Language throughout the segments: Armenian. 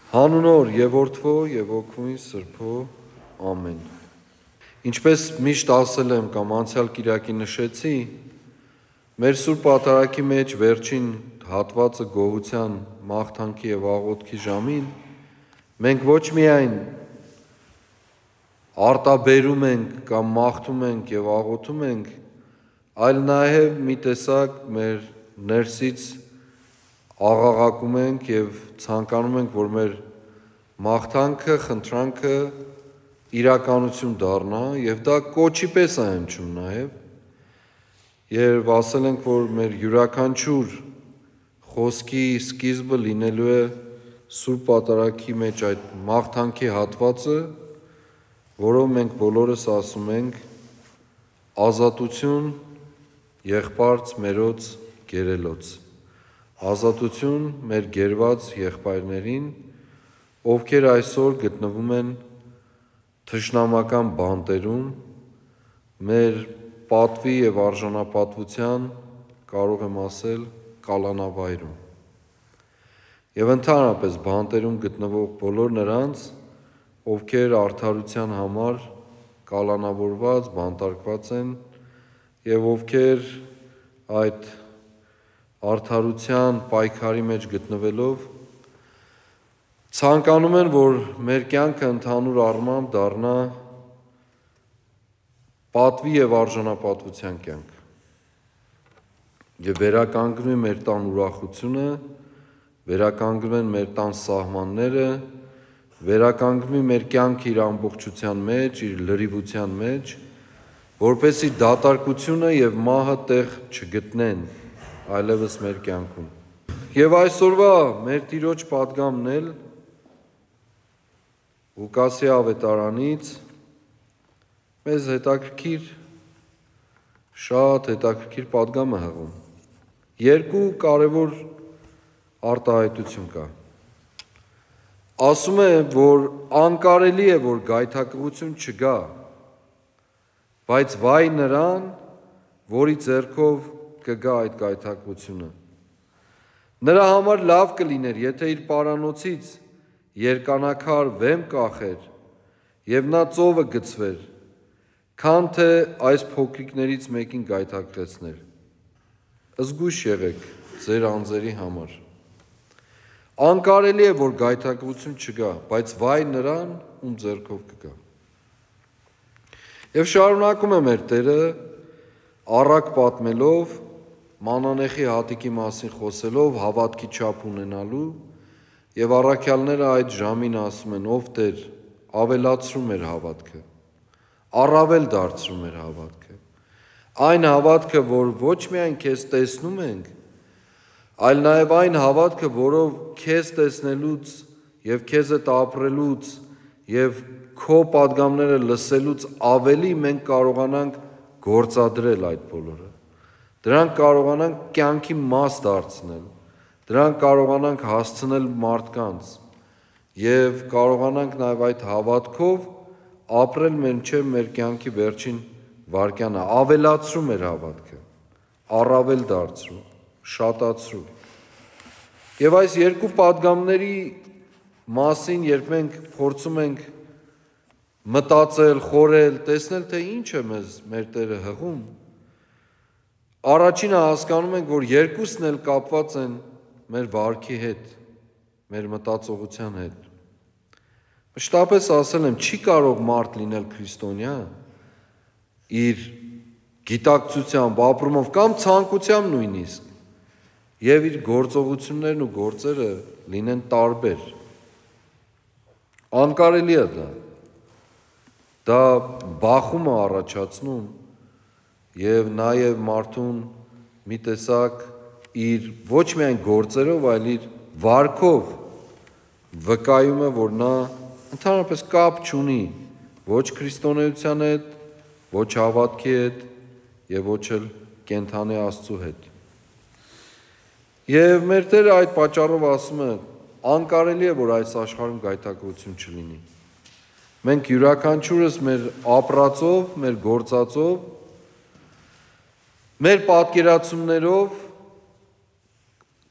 Հանունոր եւ Որդվո եւ Օգնի Սրբո ամեն։ Ինչպես միշտ ասել եմ կամ անցյալ կիրակի նշեցի, մեր Սուրբ Պատարագի մեջ վերջին հատվածը գոհության, մաղթանքի եւ աղոթքի ժամին մենք ոչ միայն արտաբերում ենք կամ մաղթում ենք եւ աղոթում ենք, այլ նաեւ մի տեսակ մեր ներսից աղաղակում ենք եւ ցանկանում ենք, որ մեր մաղթանքը, խնդրանքը իրականություն դառնա եւ դա կոչի պես է հնչում նաեւ։ Երբ ասել ենք, որ մեր յուրաքանչյուր խոսքի սկիզբը լինելու է Սուրբ Պատարագի մեջ այդ մաղթանքի հատվածը, որով մենք բոլորս ասում ենք ազատություն եղբարց մերոց գերելոց, ազատություն մեր գերված եղբայրներին, ովքեր այսօր գտնվում են թշնամական բանտերում, մեր պատվի եւ արժանապատվության, կարող եմ ասել, կալանավայրում։ Եվ ընդհանրապես բանտերում գտնվող բոլոր նրանց, ովքեր արդարության համար կալանավորված, բանտարկված են եւ ովքեր այդ արդարության պայքարի մեջ գտնվելով ցանկանում են, որ մեր կյանքը ընդհանուր առմամբ դառնա պատվի եւ արժանապատվության կյանք եւ վերականգնվի մեր տան ուրախությունը, վերականգնվեն մեր տան սահմանները, վերականգնվի մեր կյանքը իր ամբողջության մեջ, իր լրիվության մեջ, որպեսզի դատարկությունը եւ մահը տեղ չգտնեն այլևս մեր կյանքում։ Եվ այսօրվա մեր Տիրոջ պատգամն էլ Ղուկասի ավետարանից մեզ շատ հետաքրքիր պատգամ է հղում։ Երկու կարևոր արտահայտություն կա։ Ասում է, որ անկարելի է, որ գայթակղություն չգա, բայց վայ նրան, որի ձեռքով կգա այդ գայթակղությունը։ Նրա համար լավ կլիներ, եթե իր պարանոցից երկանակար վեմ կախեր եւ նա ծովը գցվեր, քան թե այս փոքրիկներից մեկին գայթակղեցներ։ Զգույշ եղեք ձեր անձերի համար։ Անկարելի է, որ գայթակղություն չգա, բայց վայ նրան, ում ձեռքով կգա։ Եվ շարունակում է մեր Տերը առակ պատմելով, մանանեխի հատիկի մասին խոսելով, հավատքի չափ ունենալու եւ առաքյալները այդ ժամին ասում են. ով Տեր, ավելացրու մեր հավատքը, առավել դարձրու մեր հավատքը, այն հավատքը, որ ոչ միայն քեզ տեսնում ենք, այլ նաեւ այն հավատքը, որով քեզ տեսնելուց եւ քեզ հետ ապրելուց եւ քո պատգամները լսելուց ավելի մենք կարողանանք գործադրել այդ բոլորը։ Դրանք կարողանանք կյանքի մաս դարձնել, դրանք կարողանանք հասցնել մարդկանց եւ կարողանանք նաեւ այդ հավատքով ապրել մինչեւ մեր կյանքի վերջին վայրկյանը, ավելացրու մեր հավատքը, առավել դարձրու, շատացրու։ Եվ այս երկու պատգամների մասին, երբ մենք փորձում ենք մտածել, խորել, տեսնել, թե ինչ է մեր Տերը հղում, առաջինը հասկանում ենք, որ երկուսն էլ կապված են մեր վարքի հետ, մեր մտածողության հետ։ Մշտապես ասել եմ, չի կարող մարդ լինել քրիստոնյա իր գիտակցությամբ, ապրումով կամ ցանկությամբ նույնիսկ, եւ իր գործողություններն ու գործերը լինեն տարբեր։ Անկարելի է դա։ Դա բախում է առաջացնում եւ նաեւ մարդուն մի տեսակ իր ոչ միայն գործերով, այլ իր վարքով վկայում է, որ նա ընդհանրապես կապ չունի ոչ քրիստոնեության հետ, ոչ հավատքի հետ եւ ոչ էլ կենթանի Աստծու հետ։ Եվ մեր Տերը այդ պատճառով ասում է, անկարելի է, որ այս աշխարհում գայթակղություն չլինի։ Մենք յուրաքանչյուրս մեր ապրածով, մեր գործածով, մեր պատկերացումներով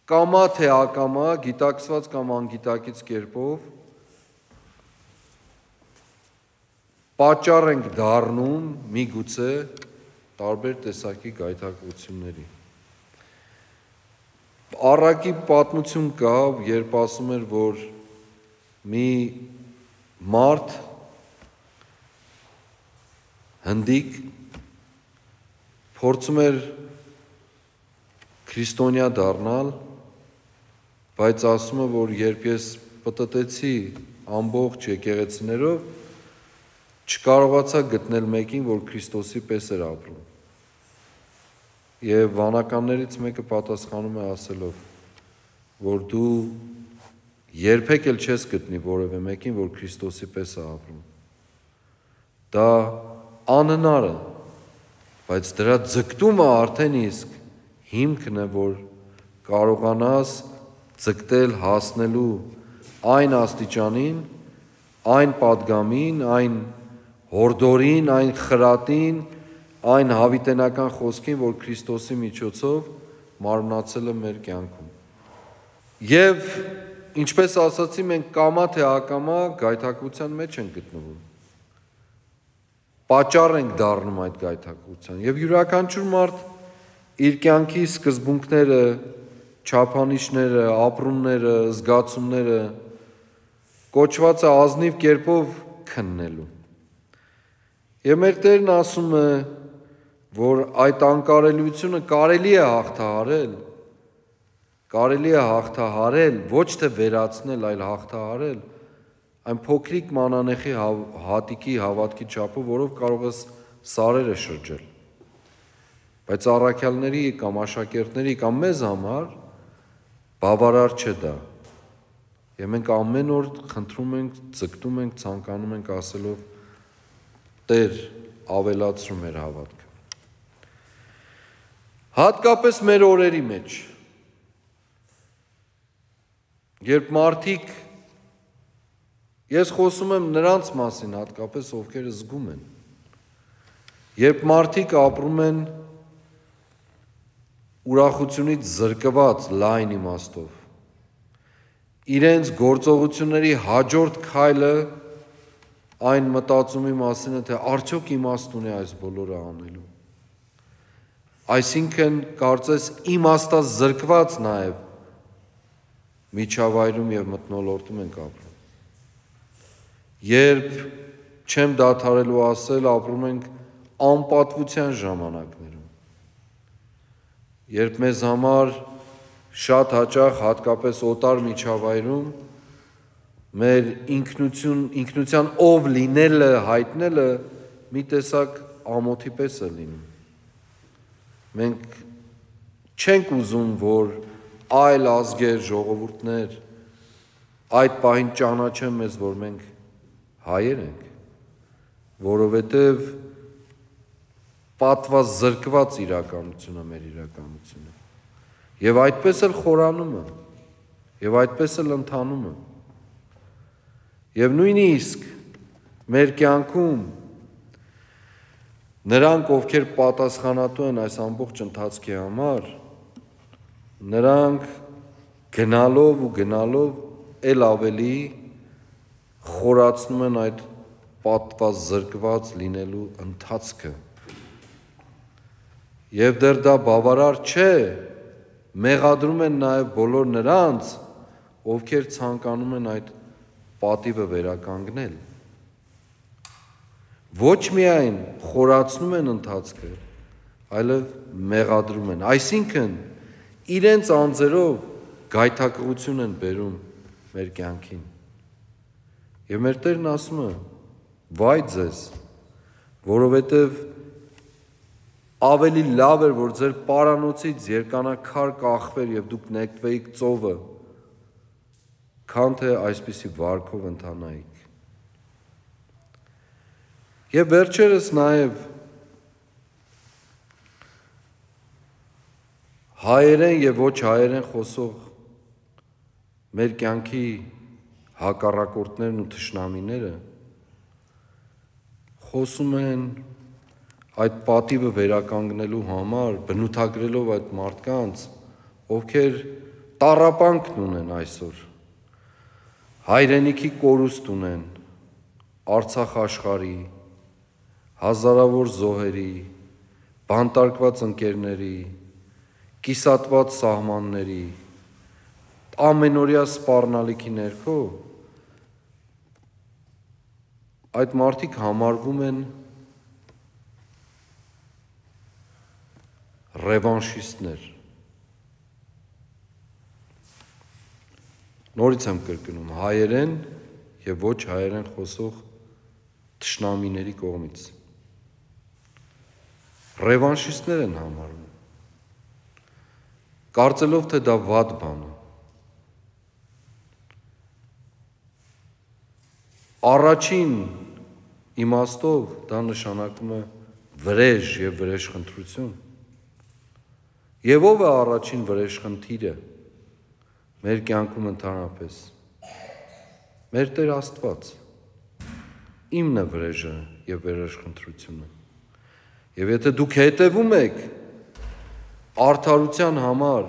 կամա թե ակամա, գիտակցված կամ անգիտակից կերպով պատճառ ենք դառնում միգուցե տարբեր տեսակի գայթակղությունների։ Առակի պատմություն կա, երբ ասում էր, որ մի մարդ հնդիկ փորձում էր քրիստոնյա դառնալ, բայց ասում է, որ երբ ես պտտեցի ամբողջ եկեղեցիներով, չկարողացա գտնել մեկին, որ Քրիստոսի պես էր ապրում։ Եվ վանականներից մեկը պատասխանում է ասելով, որ դու երբեք էլ չես գտնի որևէ մեկին, որ Քրիստոսի պես է ապրում։ Դա անհնար է, բայց դրա ձգտումը արդեն իսկ հիմքն է, որ կարողանաս ձգտել հասնելու այն աստիճանին, այն պատգամին, այն հորդորին, այն խրատին, այն հավիտենական խոսքին, որ Քրիստոսի միջոցով մարմնացել է մեր կյանքում։ Եվ ինչպես ասացի, մենք կամա թե ակամա գայթակղության մեջ ենք գտնվում։ Պատճառ ենք դառնում այդ գայթակղության։ Եվ յուրաքանչյուր մարդ իր կյանքի սկզբունքները, չափանիշները, ապրումները, զգացումները կոչված է ազնիվ կերպով քննելու։ Եվ մեր Տերն ասում է, որ այդ անկարելիությունը կարելի է հաղթահարել, ոչ թե վերացնել, այլ հաղթահարել, այն փոքրիկ մանանեխի հատիկի հավատքի չափով, որով կարող ես սարերը շրջել։ Բայց առաքյալների կամ աշակերտների կամ մեզ համար բավարար չէ դա։ Եվ մենք ամեն օր խնդրում ենք, ձգտում ենք, ցանկանում ենք ասելով Տեր, ավելացրու մեր հավատքը։ Հատկապես մեր օրերի մեջ, երբ մարդիկ, ես խոսում եմ նրանց մասին հատկապես, ովքեր զգում են, երբ մարդիկ ապրում են ուրախությունից զրկված լայն իմաստով, իրենց գործողությունների հաջորդ քայլը այն մտածումի մասին է, թե արդյոք իմաստ ունի այս բոլորը անելու։ Այսինքն կարծես իմաստազրկված նաև միջավայրում և մթնոլորտում ենք ապրում։ Երբ չեմ դադարելու ասել, ապրում ենք անպատվության ժամանակներում։ Երբ մեզ համար շատ հաճախ, հատկապես օտար միջավայրում, մեր ինքնության ով լինելը, հայտնելը մի տեսակ ամոթի պես է լինում։ Մենք չենք ուզում, որ այլ ազգեր, ժողովուրդներ այդ պահին ճանաչեն մեզ, որ մենք հայեր ենք, որովհետև պատվազրկված իրականությունը մեր իրականությունը։ Եվ այդպես էլ խորանում է, և այդպես էլ ընթանում է։ Եվ նույնիսկ մեր կյանքում նրանք, ովքեր պատասխանատու են այս ամբողջ ընթացքի համար, նրանք գնալով էլ ավելի խորացնում են այդ պատվազրկված լինելու ընթացքը։ Եվ դեռ դա բավարար չէ, մեղադրում են նաև բոլոր նրանց, ովքեր ցանկանում են այդ պատիվը վերականգնել։ Ոչ միայն խորացնում են ընթացքը, այլև մեղադրում են։ Այսինքն իրենց անձերով գայթակղություն են բերում մեր կյանքին։ Եվ մեր Տերն ասում է. վայ ձեզ, որովհետև ավելի լավ էր, որ ձեր պարանոցից երկանաքար կախվեր և դուք նետվեիք ծովը, քան թե այսպիսի վարքով ընթանայիք։ Եվ վերջերս նաև հայերեն և ոչ հայերեն խոսող մեր կյանքի հակառակորդներն ու թշնամիները խոսում են այդ պատիվը վերականգնելու համար, բնութագրելով այդ մարդկանց, ովքեր տառապանքն ունեն այսօր, հայրենիքի կորուստ ունեն, Արցախ աշխարհի, հազարավոր զոհերի, բանտարկված ընկերների, կիսատված սահմանների, ամենօրյա սպառնալիքի ներքո այդ մարդիկ համարվում են ռևանշիստներ։ Նորից եմ կրկնում, հայերեն եւ ոչ հայերեն խոսող թշնամիների կողմից։ Ռևանշիստներ են համարվում, կարծելով, թե դա վատ բան է։ Առաջին իմաստով դա նշանակում է վրեժ եւ վրեժխնդրություն։ Եվ ով է առաջին վրեժխնդիրը մեր կյանքում ընդհանրապես։ Մեր Տեր Աստված։ Իմն է վրեժը եւ վրեժխնդրությունը։ Եվ եթե դուք հետևում եք արդարության համար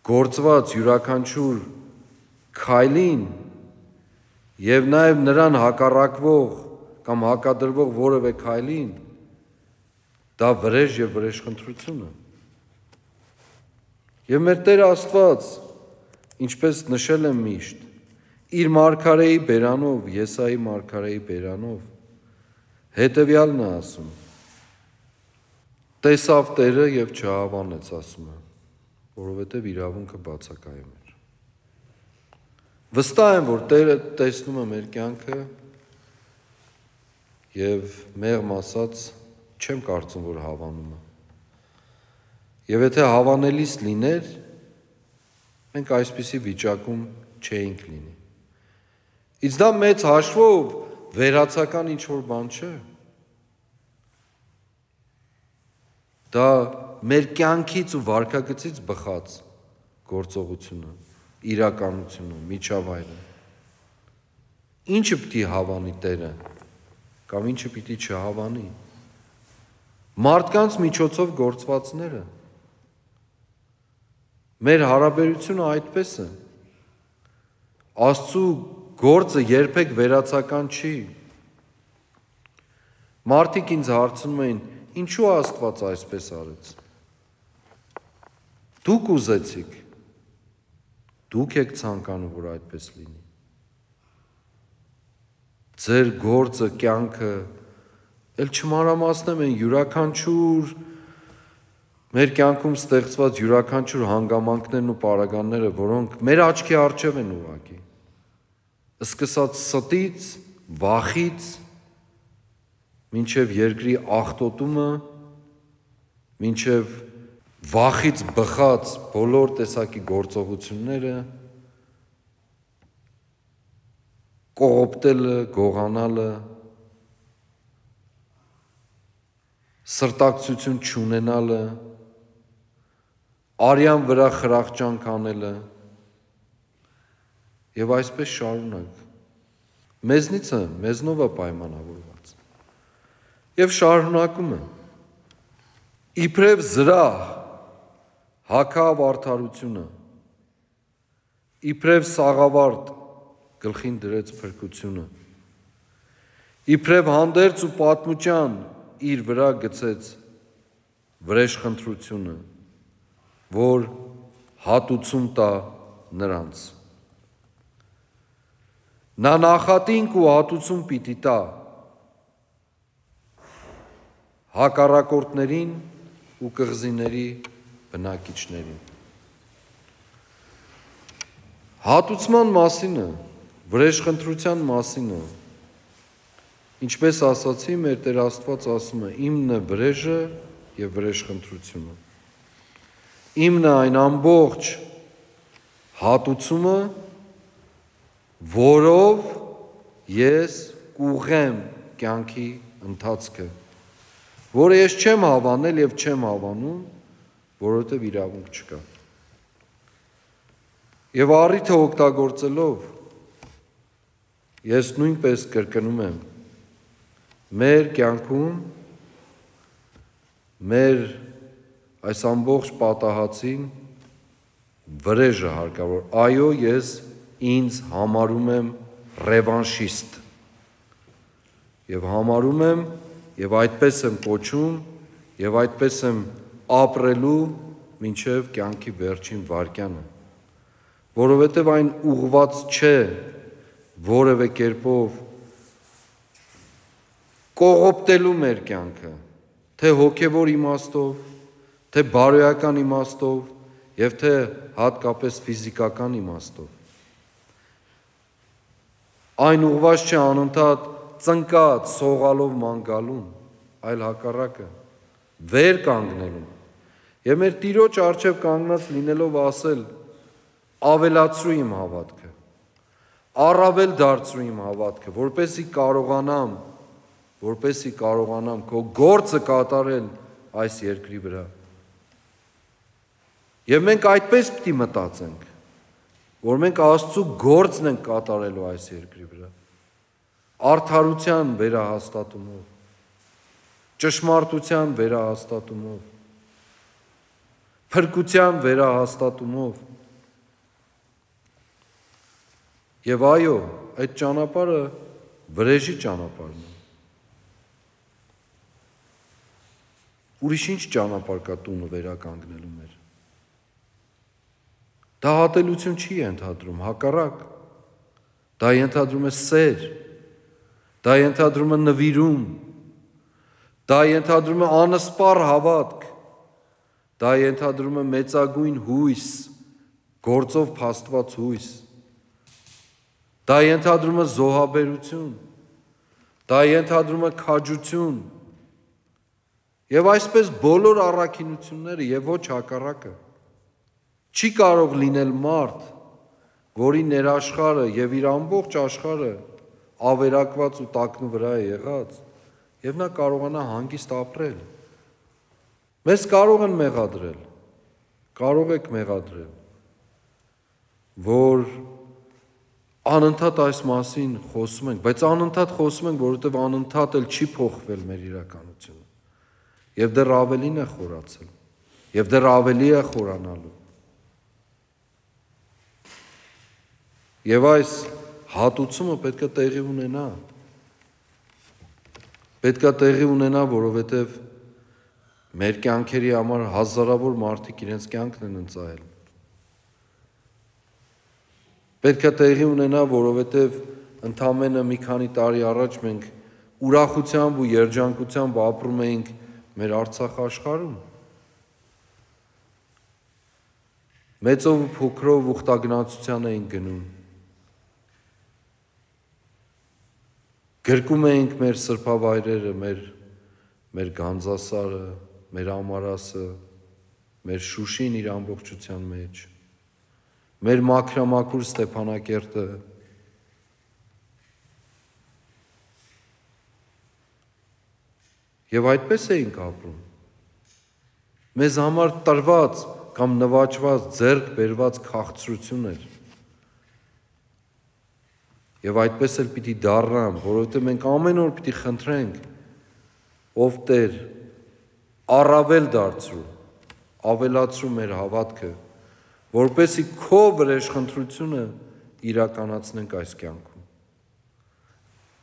գործված յուրաքանչյուր քայլին եւ նաեւ նրան հակառակվող կամ հակադրվող որևէ քայլին, դա վրեժ եւ վրեժխնդրություն է։ Եվ մեր Տեր Աստված, ինչպես նշել եմ միշտ, իր մարգարեի բերանով, Եսայի մարգարեի բերանով, հետևյալն է ասում. տեսավ Տերը եւ չհավանեց, ասում է, որովհետեւ իրավունքը բացակայում էր։ Վստահ եմ, որ Տերը տեսնում է մեր կյանքը եւ մեղմ ասած չեմ կարծում, որ հավանում է։ Եվ եթե հավանելիս լիներ, մենք այսպիսի վիճակում չէինք լինի։ Իսկ դա մեծ հաշվով վերացական ինչ-որ բան չէ։ Դա մեր կյանքից ու վարքագծից բխած գործողությունը, իրականությունը, միջավայրը։ Ինչը պիտի հավանի Տերը, կամ ինչը պիտի չհավանի։ Մարդկանց միջոցով գործվածները։ Մեր հարաբերությունը այդպես է։ Աստծու գործը երբեք վերացական չի։ Մարդիկ ինձ հարցնում էին, ինչու Աստված այսպես արեց։ Դուք ուզեցիք, դուք եք ցանկանում, որ այդպես լինի։ Ձեր գործը, կյանքը, էլ չմանրամասնեմ են յուրաքանչյուր մեր կյանքում ստեղծված յուրաքանչյուր հանգամանքներն ու պարագաները, որոնք մեր աչքի առջև են ուղղակի։ Սկսած ստից, վախից, մինչև երկրի աղտոտումը, մինչև վախից բխած բոլոր տեսակի գործողությունները, կողոպտելը, գողանալը, սրտակցություն չունենալը, արյան վրա խրախճանք անելը եւ այսպես շարունակ։ Մեզնով է պայմանավորված։ Եվ շարունակում է։ Իբրև զրահ հագավ արդարությունը, իբրև սաղավարտ գլխին դրեց փրկությունը, իբրև հանդերձ ու պատմության իր վրա գցեց վրեժխնդրությունը, որ հատուցում տա նրանց։ Նա նախատինք ու հատուցում պիտի տա հակառակորդներին ու կղզիների բնակիչներին։ Հատուցման մասին է, վրեժխնդրության մասին է։ Ինչպես ասացի, մեր Տեր Աստված ասում է. իմն է վրեժը եւ վրեժխնդրությունը։ Իմն է այն ամբողջ հատուցումը, որով ես կուղեմ կյանքի ընթացքը, որը ես չեմ հավանել եւ չեմ հավանում, որովհետեւ իրավունք չկա։ Եվ առիթը օգտագործելով ես նույնպես կրկնում եմ, մեր կյանքում մեր այս ամբողջ պատահածին վրեժը հարկավոր, այո, ես ինձ համարում եմ ռևանշիստ և համարում եմ և այդպես եմ կոչում և այդպես եմ ապրելու մինչև կյանքի վերջին վայրկյանը, որովհետև այն ուղղված չէ որևէ կերպով կողոպտելու մեր կյանքը, թե հոգևոր իմաստով, թե բարոյական իմաստով և թե հատկապես ֆիզիկական իմաստով։ Այն ուղղված չէ անընդհատ ծնկած սողալով ման գալուն, այլ հակառակը վեր կանգնելուն և մեր Տիրոջ առջև կանգնած լինելով ասել ավելացրու իմ հավատքը, առավել դարձրու իմ հավատքը, որպեսզի կարողանամ քո գործը կատարել այս երկրի վրա։ Եվ մենք այդպես պիտի մտածենք, որ մենք Աստծու գործն ենք կատարելու այս երկրի վրա, արդարության վերահաստատումով, ճշմարտության վերահաստատումով, փրկության վերահաստատումով։ Եվ այո, այդ ճանապարհը վրեժի ճանապարհն է։ Ուրիշ ինչ ճանապարհ կա տունը վերականգնելու մեր։ Դա հատելություն չի ենթադրում, հակառակ, դա ենթադրում է սեր, դա ենթադրում է նվիրում, դա ենթադրում է անսպառ հավատք, դա ենթադրում է մեծագույն հույս, գործով փաստված հույս, դա ենթադրում է զոհաբերություն, դա ենթադրում է քաջություն և այսպես բոլոր առաքինությունները և ոչ հակառակը։ Չի կարող լինել մարդ, որի ներաշխարհը և իր ամբողջ աշխարհը ավերակված ու տակնու վրա է եղած և նա կարողանա հանգիստ ապրել։ Մեզ կարող են մեղադրել, կարող եք մեղադրել, որ անընդհատ այս մասին խոսում ենք, բայց անընդհատ խոսում ենք, որովհետև անընդհատ էլ չի փոխվել մեր իրականությունը և դեռ ավելին է խորացել և դեռ ավելի է խորանալու։ Եվ այս հատուցումը պետք է տեղի ունենա, որովհետև մեր կյանքերի համար հազարավոր մարդիկ իրենց կյանքն են ընծայել։ Պետք է տեղի ունենա, որովհետև ընդամենը մի քանի տարի առաջ մենք ուրախությամբ ու երջանկությամբ ապրում էինք մեր Արցախ աշխարհում։ Մեծով ու փոքրով ուխտագնացության էինք գնում։ Գրկում էինք մեր սրբավայրերը, մեր Գանձասարը, մեր Ամարասը, մեր Շուշին իր ամբողջության մեջ, մեր մաքրամաքուր Ստեփանակերտը, և այդպես էինք ապրում։ Մեզ համար տրված կամ նվաճված, ձեռք բերված քաղցրություն էր։ Եվ այդպես էլ պիտի դառնամ, որովհետև մենք ամեն օր պիտի խնդրենք, ով Տեր, առավել դարձրու, ավելացրու մեր հավատքը, որպեսզի քո վրեժխնդրությունը իրականացնենք այս կյանքում։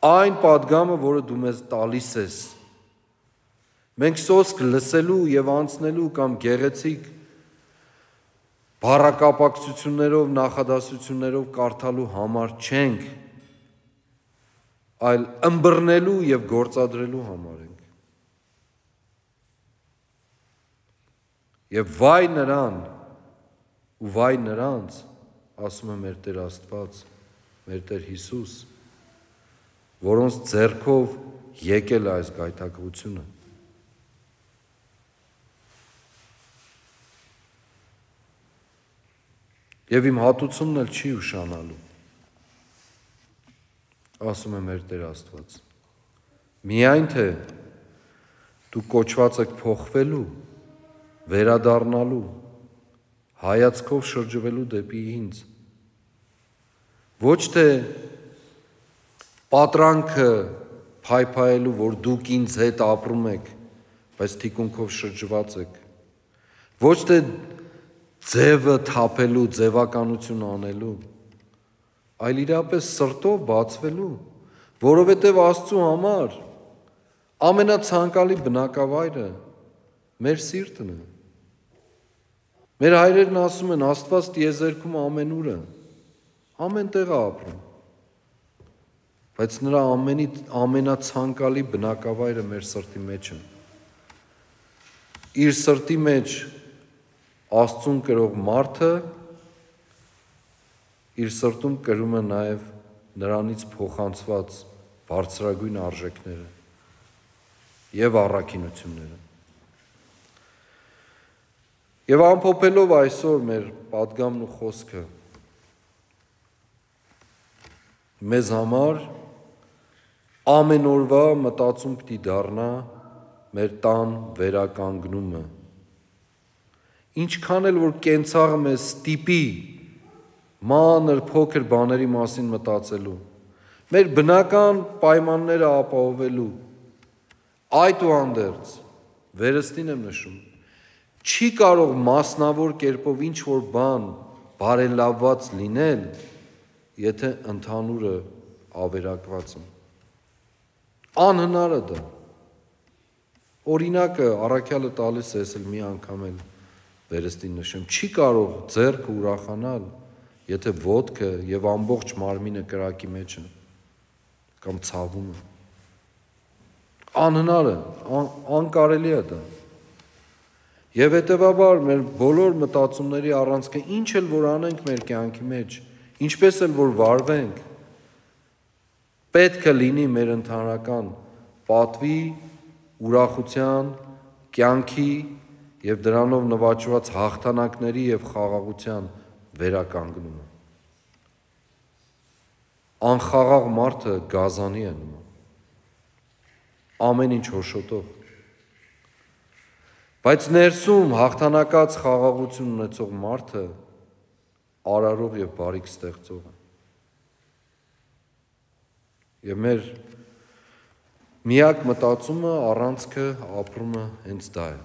Այն պատգամը, որը դու մեզ տալիս ես, մենք սոսկ լսելու և անցնելու կամ գեղեցիկ բառակապակցություններով, նախադասություններով կարդալու համար չենք, այլ ըմբռնելու և գործադրելու համար ենք։ Եվ վայ նրան ու վայ նրանց, ասում է մեր Տեր Աստված, մեր Տեր Հիսուս, որոնց ձեռքով եկել է այս գայթակղությունը։ Եվ իմ հատուցումն էլ չի ուշանալու, ասում է մեր Տեր Աստված, միայն թե դու կոչված եք փոխվելու, վերադառնալու, հայացքով շրջվելու դեպի ինձ, ոչ թե պատրանքը փայփայելու, որ դուք ինձ հետ ապրում եք, բայց թիկունքով շրջված եք, Ոչ թե ձևը թափելու, ձևականություն անելու, այլ իրապես սրտով բացվելու, որովհետև Աստծու համար ամենացանկալի բնակավայրը մեր սիրտն է։ Մեր հայրերն ասում են, Աստված տիեզերքում ամենուր է, ամեն տեղ է ապրում, բայց նրա ամենացանկալի բնակավայրը մեր սրտի մեջ է։ Իր սրտի մեջ Աստծուն կրող մարդը իր սրտում կրում է նաև նրանից փոխանցված բարձրագույն արժեքները և առաքինությունները։ Եվ ամփոփելով այսօր մեր պատգամն ու խոսքը, մեզ համար ամեն օրվա մտածում պիտի դառնա մեր տան վերականգնումը։ Ինչքան էլ որ կենցաղը մեզ ստիպի մանր փոքր բաների մասին մտածելու, մեր բնական պայմանները ապահովելու, այդուհանդերձ, վերստին եմ նշում, չի կարող մասնավոր կերպով ինչ-որ բան բարելավված լինել, եթե ընդհանուրը ավերակված է։ Անհնար է դա։ Օրինակը առաքյալը տալիս է, ես էլ մի անգամ էլ վերստին նշեմ, չի կարող ձեռքը ուրախանալ, եթե ոտքը և ամբողջ մարմինը կրակի մեջ է, կամ ցավում է։ Անհնար է, անկարելի է դա։ Եվ հետևաբար մեր բոլոր մտածումների առանցքը ինչ էլ որ անենք մեր կյանքի մեջ, ինչպես էլ որ վարվենք, պետք է լինի մեր ընդհանրական պատվի, ուրախության, կյանքի և դրանով նվաճված հաղթանակների և խաղաղության վերականգնումը։ Անխաղաղ մարդը գազանի է նման, ամեն ինչ հոշոտող, բայց ներսում հաղթանակած խաղաղություն ունեցող մարդը արարող և բարիք ստեղծող է։ Եվ մեր միակ մտածումը, առանցքը, ապրումը հենց դա է։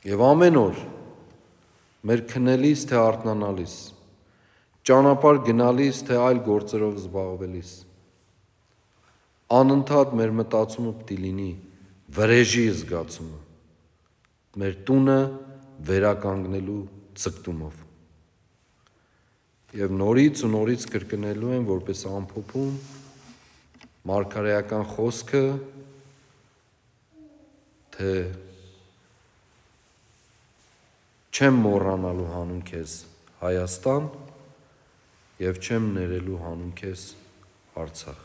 Եվ ամեն օր մեր քնելիս թե արթնանալիս, ճանապարհ գնալիս թե այլ գործերով զբաղվելիս, անընդհատ մեր մտածումը պիտի լինի վրեժի զգացումը, մեր տունը վերականգնելու ձգտումով։ Եվ նորից ու նորից կրկնելու եմ, որպես ամփոփում, մարգարեական խոսքը, թե չեմ մոռանալու հանուն քեզ Հայաստան և չեմ ներելու հանուն քեզ Արցախ։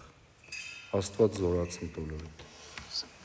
Աստված զորացնի բոլորիդ։